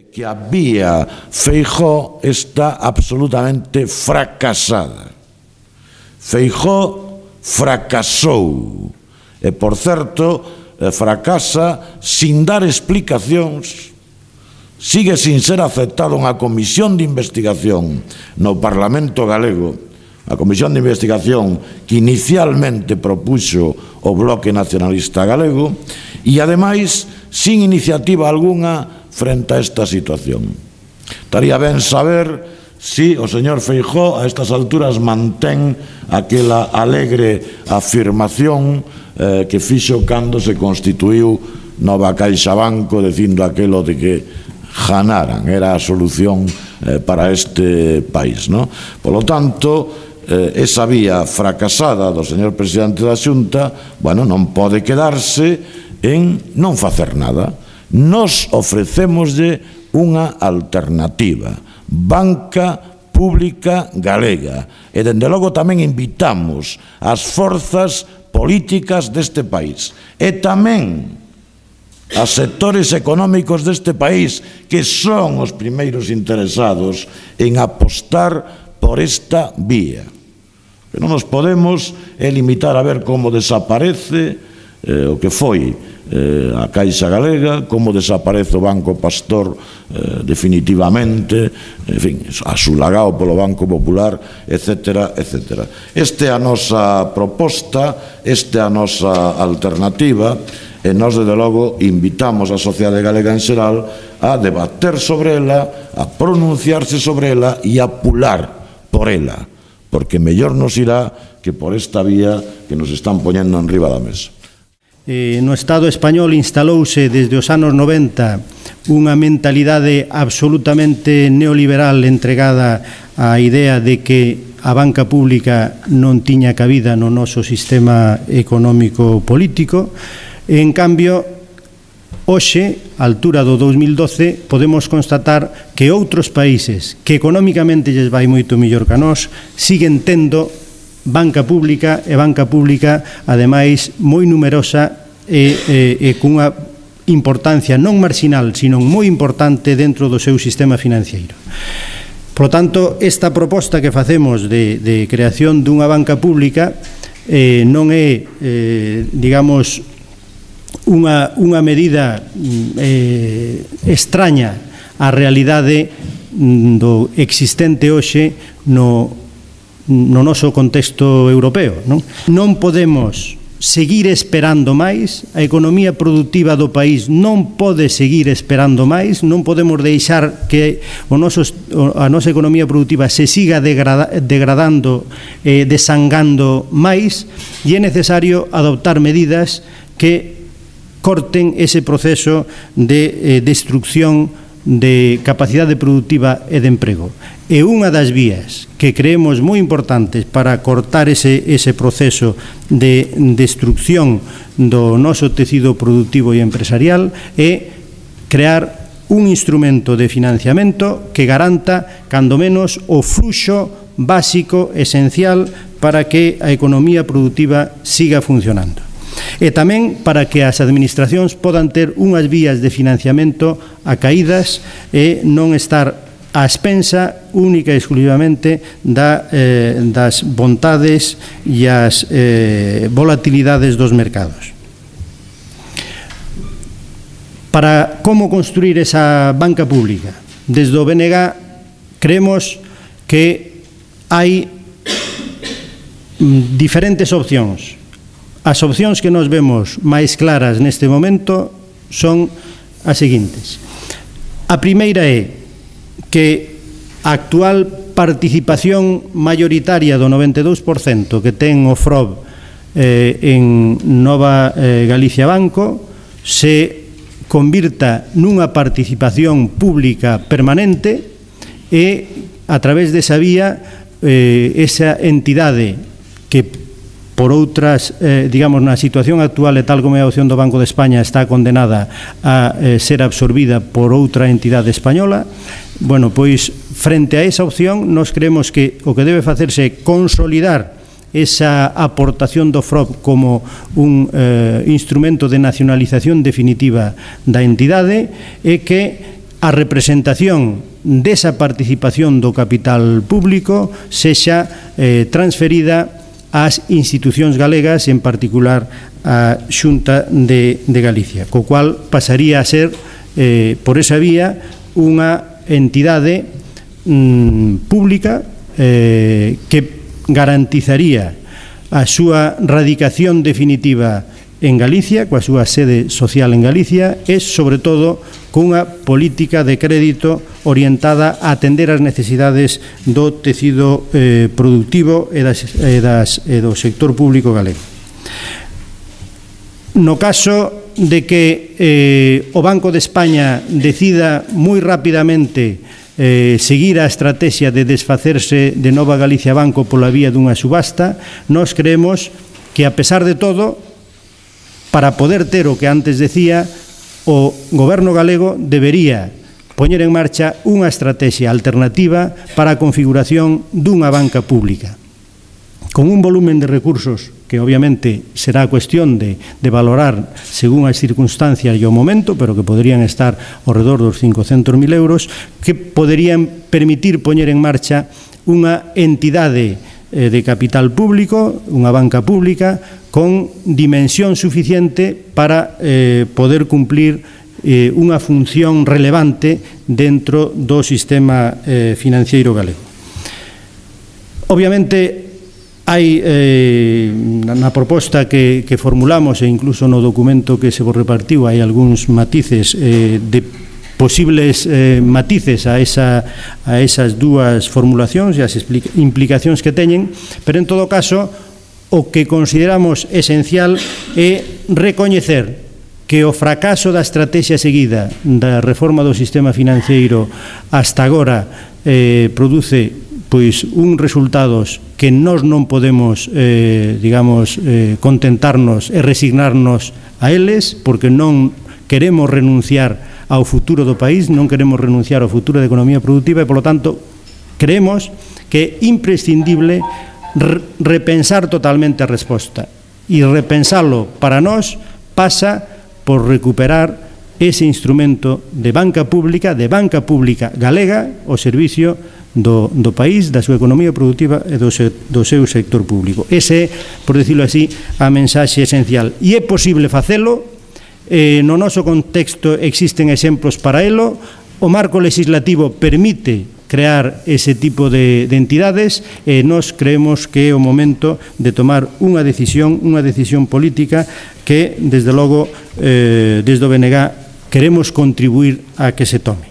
que a vía Feijóo está absolutamente fracasada. Feijóo fracasou e, por certo, fracasa sin dar explicacións, sigue sin ser aceptado unha comisión de investigación no Parlamento galego, a comisión de investigación que inicialmente propuxo o Bloque Nacionalista Galego, e, ademais, sin iniciativa algunha frente a esta situación. Estaría ben saber si o señor Feijóo a estas alturas mantén aquela alegre afirmación que fixo cando se constituiu Nova CaixaBanco, dicindo aquelo de que ganaran, era a solución para este país, non? Polo tanto, esa vía fracasada do señor presidente da Xunta, bueno, non pode quedarse en non facer nada. Nos ofrecémoslle unha alternativa, banca pública galega, e dende logo tamén invitamos as forzas políticas deste país e tamén a sectores económicos deste país que son os primeiros interesados en apostar por esta vía. Que non nos podemos limitar a ver como desaparece o que foi a Caixa Galega, como desaparece o Banco Pastor definitivamente, en fin, asulagado polo Banco Popular, etc., etc. Esta é a nosa proposta, esta é a nosa alternativa, e nós, desde logo, invitamos a sociedade galega en xeral a debater sobre ela, a pronunciarse sobre ela e a pular por ela, porque mellor nos irá que por esta vía que nos están poñendo enriba da mesa. No Estado español instalouse desde os anos 90 unha mentalidade absolutamente neoliberal entregada á idea de que a banca pública non tiña cabida no noso sistema económico político. En cambio, hoxe, á altura do 2012, podemos constatar que outros países que económicamente lles vai moito mellor que a nós siguen tendo banca pública, e banca pública, ademais, moi numerosa e cunha importancia non marxinal, sino moi importante dentro do seu sistema financiero. Por lo tanto, esta proposta que facemos de creación dunha banca pública non é, digamos, unha medida extraña á realidade do existente hoxe no noso contexto europeo. Non podemos seguir esperando máis, a economía productiva do país non pode seguir esperando máis, non podemos deixar que a nosa economía productiva se siga degradando, desangando máis, e é necesario adoptar medidas que corten ese proceso de destrucción de capacidade productiva e de emprego. E unha das vías que creemos moi importantes para cortar ese proceso de destrucción do noso tecido productivo e empresarial é crear un instrumento de financiamento que garanta, cando menos, o fluxo básico, esencial, para que a economía productiva siga funcionando. E tamén para que as administracións podan ter unhas vías de financiamento acaídas e non estar a expensa única e exclusivamente das vontades e as volatilidades dos mercados. Para como construir esa banca pública, desde o BNG creemos que hai diferentes opcións. As opcións que nos vemos máis claras neste momento son as seguintes. A primeira é que a actual participación mayoritaria do 92% que ten o FROB en Nova Galicia Banco se convirta nunha participación pública permanente e, a través desa vía, esa entidade que por outras, digamos, na situación actual e tal como é a opción do Banco de España está condenada a ser absorbida por outra entidade española. Bueno, pois, frente a esa opción, nós creemos que o que debe facerse é consolidar esa aportación do FROB como un instrumento de nacionalización definitiva da entidade e que a representación desa participación do capital público sexa transferida ás institucións galegas, en particular a Xunta de Galicia, co cual pasaría a ser, por esa vía, unha entidade pública que garantizaría a súa radicación definitiva en Galicia, coa súa sede social en Galicia, e, sobre todo, cunha política de crédito orientada a atender as necesidades do tecido productivo e do sector público galego. No caso de que o Banco de España decida moi rapidamente seguir a estrategia de desfacerse de Nova Galicia Banco pola vía dunha subasta, nós creemos que, a pesar de todo, para poder ter o que antes decía, o goberno galego debería poñer en marcha unha estrategia alternativa para a configuración dunha banca pública, con un volumen de recursos que obviamente será cuestión de valorar según as circunstancias e o momento, pero que poderían estar ao redor dos 500.000 euros, que poderían permitir poñer en marcha unha entidade de capital público, unha banca pública con dimensión suficiente para poder cumplir unha función relevante dentro do sistema financeiro galego. Obviamente, hai na proposta que formulamos, e incluso no documento que se vos repartiu, hai algúns matices de posibles matices a esas dúas formulacións e as implicacións que teñen, pero en todo caso o que consideramos esencial é recoñecer que o fracaso da estrategia seguida da reforma do sistema financeiro hasta agora produce pois uns resultados que nós non podemos contentarnos e resignarnos a eles, porque non queremos renunciar ao futuro do país, non queremos renunciar ao futuro da economía productiva e, polo tanto, creemos que é imprescindible repensar totalmente a resposta, e repensalo para nós pasa por recuperar ese instrumento de banca pública galega ao servicio do país, da súa economía productiva e do seu sector público. Ese é, por decirlo así, a mensaxe esencial. E é posible facelo. No noso contexto existen exemplos para elo. O marco legislativo permite crear ese tipo de entidades e nós creemos que é o momento de tomar unha decisión política que, desde logo, desde o BNG queremos contribuir a que se tome.